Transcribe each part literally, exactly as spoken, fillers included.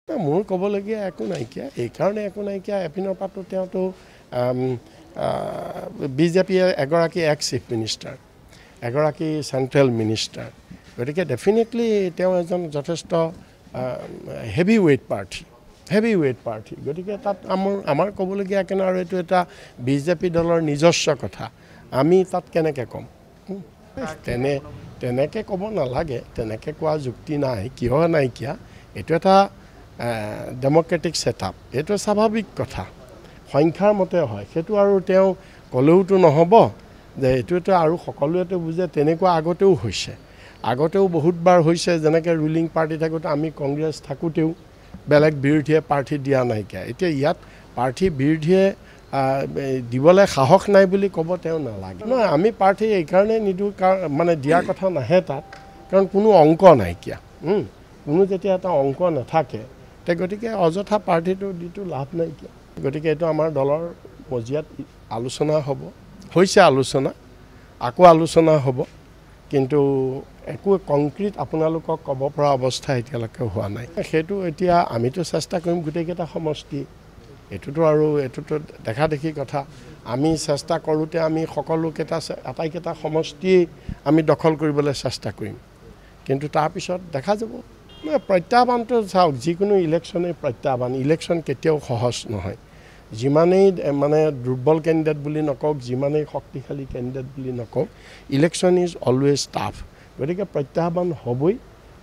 মোৰ ক'বলগীয়া একো নাইকিয়া, এইকাৰণে একো নাইকিয়া, এপিনৰ পাতো তেওঁতো বিজেপিয়ে এগৰাকী এক্স চিফ মিনিষ্টাৰ, এগৰাকী চেণ্ট্ৰেল মিনিষ্টাৰ, গতিকে ডেফিনেটলি তেওঁ এজন যথেষ্ট হেভি ৱেইট প্ৰাৰ্থী, হেভি ৱেইট প্ৰাৰ্থী। গতিকে তাত আমাৰ আমাৰ ক'বলগীয়া কেনে, আৰু এইটো এটা বিজেপি দলৰ নিজস্ব কথা, আমি তাত কেনেকৈ ক'ম? তেনে তেনেকৈ ক'ব নালাগে, তেনেকৈ কোৱা যুক্তি নাই। কিয় নাইকিয়া? এইটো এটা ডেম'ক্ৰেটিক ছেটআপ, এইটো স্বাভাৱিক কথা, সংখ্যাৰ মতে হয় সেইটো। আৰু তেওঁ ক'লেওতো নহ'ব যে এইটোতো আৰু সকলোৱেতো বুজে, তেনেকুৱা আগতেও হৈছে, আগতেও বহুতবাৰ হৈছে। যেনেকৈ ৰুলিং পাৰ্টি থাকোঁতে আমি কংগ্ৰেছ থাকোঁতেও বেলেগ বিৰোধীয়ে প্ৰাৰ্থী দিয়া নাইকিয়া। এতিয়া ইয়াত প্ৰাৰ্থী বিৰোধীয়ে দিবলৈ সাহস নাই বুলি ক'ব তেওঁ নালাগে। নহয়, আমি প্ৰাৰ্থী এইকাৰণেই নিদিওঁ, কাৰণ মানে দিয়াৰ কথা নাহে তাত, কাৰণ কোনো অংক নাইকিয়া। কোনো যেতিয়া এটা অংক নাথাকে, তে গতিকে অযথা প্ৰাৰ্থীটো দিটো লাভ নাইকিয়া। গতিকে এইটো আমাৰ দলৰ মজিয়াত আলোচনা হ'ব, হৈছে আলোচনা, আকৌ আলোচনা হ'ব, কিন্তু একো কংক্ৰিট আপোনালোকক ক'ব পৰা অৱস্থা এতিয়ালৈকে হোৱা নাই। সেইটো এতিয়া আমিতো চেষ্টা কৰিম গোটেইকেইটা সমষ্টি, এইটোতো আৰু এইটোতো দেখা দেখি কথা, আমি চেষ্টা কৰোঁতে আমি সকলোকেইটা আটাইকেইটা সমষ্টিয়েই আমি দখল কৰিবলৈ চেষ্টা কৰিম, কিন্তু তাৰপিছত দেখা যাব। নহয়, প্ৰত্যাহ্বানটো চাওক, যিকোনো ইলেকশ্যনেই প্ৰত্যাহ্বান, ইলেকশ্যন কেতিয়াও সহজ নহয়। যিমানেই মানে দুৰ্বল কেণ্ডিডেট বুলি নকওক, যিমানেই শক্তিশালী কেণ্ডিডেট বুলি নকওক, ইলেকশ্যন is always tough. গতিকে প্ৰত্যাহ্বান হ'বই,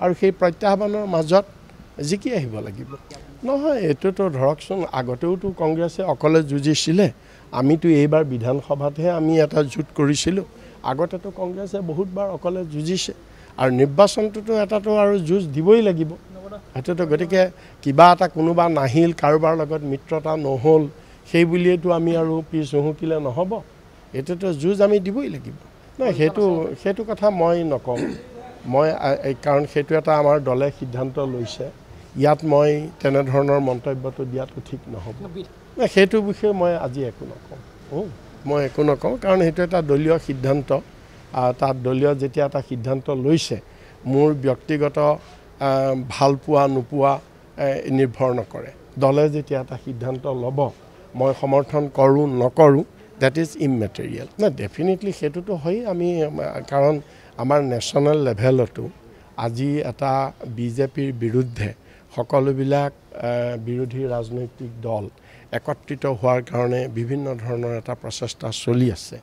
আৰু সেই প্ৰত্যাহ্বানৰ মাজত জিকি আহিব লাগিব। নহয়, এইটোতো ধৰকচোন আগতেওতো কংগ্ৰেছে অকলে যুঁজিছিলে, আমিতো এইবাৰ বিধানসভাতহে আমি এটা জোঁট কৰিছিলোঁ, আগতেতো কংগ্ৰেছে বহুতবাৰ অকলে যুঁজিছে, আৰু নিৰ্বাচনটোতো এটাতো আৰু যুঁজ দিবই লাগিব সেইটোতো। গতিকে কিবা এটা কোনোবা নাহিল, কাৰোবাৰ লগত মিত্ৰতা নহ'ল, সেই বুলিয়েতো আমি আৰু পিছ হুঁহকিলে নহ'ব, এইটোতো যুঁজ আমি দিবই লাগিব। নহয়, সেইটো সেইটো কথা মই নকওঁ, মই কাৰণ সেইটো এটা আমাৰ দলে সিদ্ধান্ত লৈছে, ইয়াত মই তেনেধৰণৰ মন্তব্যটো দিয়াটো ঠিক নহ'ব। সেইটো বিষয়ে মই আজি একো নকওঁ, মই একো নকওঁ, কাৰণ সেইটো এটা দলীয় সিদ্ধান্ত। তাত দলীয় যেতিয়া এটা সিদ্ধান্ত লৈছে, মোৰ ব্যক্তিগত ভালপোৱা নোপোৱা নিৰ্ভৰ নকৰে। দলে যেতিয়া এটা সিদ্ধান্ত ল'ব, মই সমৰ্থন কৰোঁ নকৰোঁ, that is immaterial. নাই, ডেফিনেটলি সেইটোতো হয়েই। আমি কাৰণ আমাৰ নেশ্যনেল লেভেলতো আজি এটা বিজেপিৰ বিৰুদ্ধে সকলোবিলাক বিৰোধী ৰাজনৈতিক দল একত্ৰিত হোৱাৰ কাৰণে বিভিন্ন ধৰণৰ এটা প্ৰচেষ্টা চলি আছে।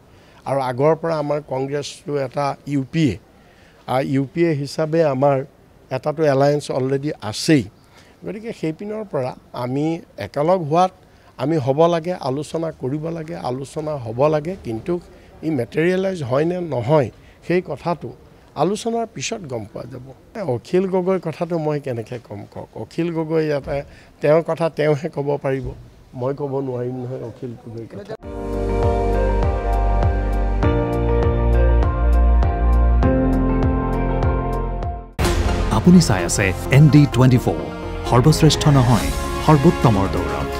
আৰু আগৰ পৰা আমাৰ কংগ্ৰেছটো এটা U P A, U P A হিচাপে আমাৰ এটাতো এলায়েন্স অলৰেডি আছেই। গতিকে সেইপিনৰ পৰা আমি একেলগ হোৱাত আমি হ'ব লাগে, আলোচনা কৰিব লাগে, আলোচনা হ'ব লাগে, কিন্তু ই মেটেৰিয়েলাইজ হয়নে নহয় সেই কথাটো আলোচনাৰ পিছত গম পোৱা যাব। অখিল গগৈৰ কথাটো মই কেনেকৈ ক'ম কওক? অখিল গগৈ ইয়াতে তেওঁৰ কথা তেওঁহে ক'ব পাৰিব, মই ক'ব নোৱাৰিম নহয় অখিল গগৈৰ কথা। আপুনি চাই আছে এন ডি টুৱেণ্টি ফ'ৰ, সৰ্বশ্ৰেষ্ঠ নহয় সৰ্বোত্তমৰ দৌৰত।